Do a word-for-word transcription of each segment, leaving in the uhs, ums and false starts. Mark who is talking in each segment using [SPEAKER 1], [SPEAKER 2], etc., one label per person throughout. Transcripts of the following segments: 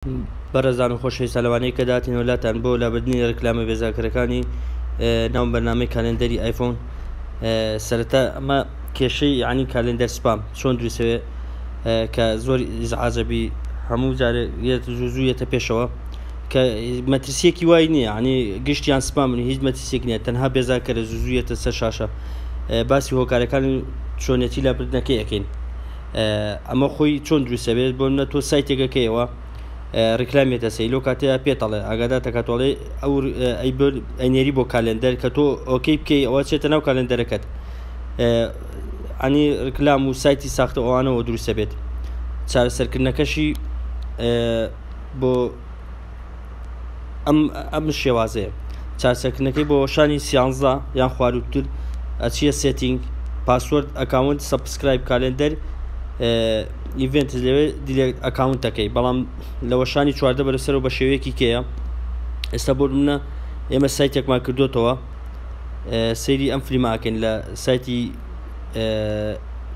[SPEAKER 1] بەڕێزان و خۆشەویستان، لەوانەیە کە داتینەوە لاتان بۆ لابردنی ڕیکلامە بێزارکەرەکانی ناو بەرنامەی calendar ی ئایفۆن. سەرەتا ئەمە کێشەی یعنی calendar spam چۆن دروستەوێ کە زۆر ئیزعاجەبی، هەموو جارێ زوو زوو یەتە پێشەوە کە مەترسیەکی وای نییە، ینی گشتیان سپامن، هیچ مەترسیەک نییە، تەنها بێزارکەرە، زوو زوو یەتە سەر شاشە. باسی هۆکارەکانی چۆنیەتی لابردنەکەی ئەەکەین. ئەمە خۆی چۆن دروستە بێت؟ بۆ نە تۆ سایتێکەکەیەوە ڕیکلامیێتە سەی، لەو کاتەیە پێتەڵێ ئاگادار دەکاتۆڵێ ئەو ئەینێری بۆ calendar، کە تۆ okay بکەی ئەوە چێتە ناو calendar ەکەت. ئەنی ڕیکلام و سایتی ساختە ئەوانەوە دروستە بێت. چارەسەرکردنەکەشی بۆ ئەم ئەم شێوازەیە. چارەسەرکردنەکەی بۆ شانی سیانزە یان خواروتر ئەچیە setting، password، account، subscribe calendar event، لەوێ delete account ەکەی. بەڵام لە وەشانی چواردە بەرەسەرەوە بە شێوەیەکی کێیە. ئێستا بۆ منە ئێمە سایتێکمان کردوتەوە، سەیری ئەم فلیماکەین لە سایتی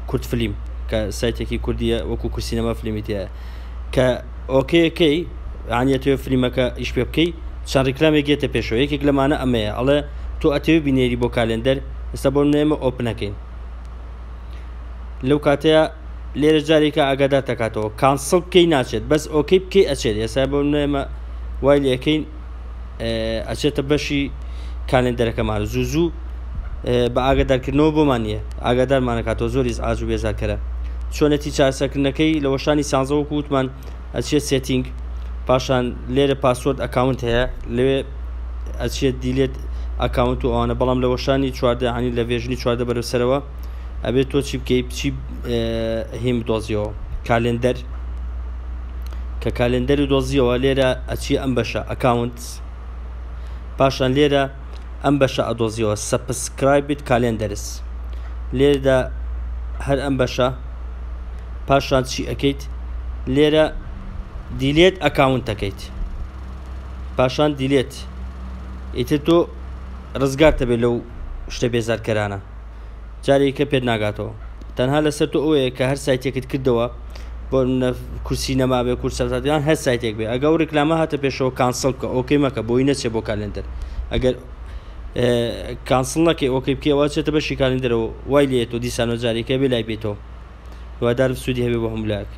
[SPEAKER 1] کورد فلیم کە سایتێکی کوردیە، وەکو کورسینەما فلیمی تایە. کە okay ەکەی یانیەتەوە فلیمەکە ئیش پێ بکەی، چەند ڕیکلامێک گێتە پێشەوە. یەکێک لەمانە ئەمەیە، ئەڵێ تۆ ئەتەوێ بینێری بۆ calendar؟ ئێستا بۆ ئێمە open ەکەین، لەو کاتەیە لێرە جارێکە ئاگادار دەکاتەوە cancel بکەی ناچێت، بەس okay بکەی ئەچێت. ئێستا بۆ ئێمە وای لەکەین ئەچێتە بەشی calendar ەکەمان، زوو زوو بە ئاگادارکردنەوە بۆمان نییە، ئاگادارمانەکاتەوە، زۆر ئیزعاج و بێزارکەرە. چۆنەتی چارەسەرکردنەکەی لە وەشانی سانزە وەکو وتمان ئەچێت setting، پاشان لێرە password account هەیە، لەوێ ئەچێت delete account و ئەوانە. بەڵام لە وەشانی چواردە، عنی لە version ی چواردە بەرەو سەرەوە، ئەبێت تۆ چی بکەی؟ بچی هیم دۆزیەوە calendar. کە calendar و دۆزیەوە، لێرە ئەچی ئەم بەشە account، پاشان لێرە ئەم بەشە ئەدۆزیەوە subscribed calendars، لێرەدا هەر ئەم بەشە. پاشان چی ئەەکەیت؟ لێرە delete account ەکەیت، پاشان delete، ئیتر تۆ ڕزگارتە بێت لەو شتە بێزارکەرانە، جارێکە پێت ناگاتەوە. تەنها لەسەر تۆ ئەوەیە کە هەر سایتێکت کردەوە، بۆ کورسی نەما بێ، کورسیان هەر سایتێک بێ، ئەگە ئەو ڕیکلامە هاتە پێشەوە cancel بکە، okay مەکە بۆی نەچێ بۆ calendar. ئەگەر cancel نەکەی okay بکەوە، چێتە بەشی calendar ەوە، وای لێتەوە دیسانەوە جارێکە بێ لای بێتەوە. هیوادارم سوودی هەبێ بۆ هەموو لایەک.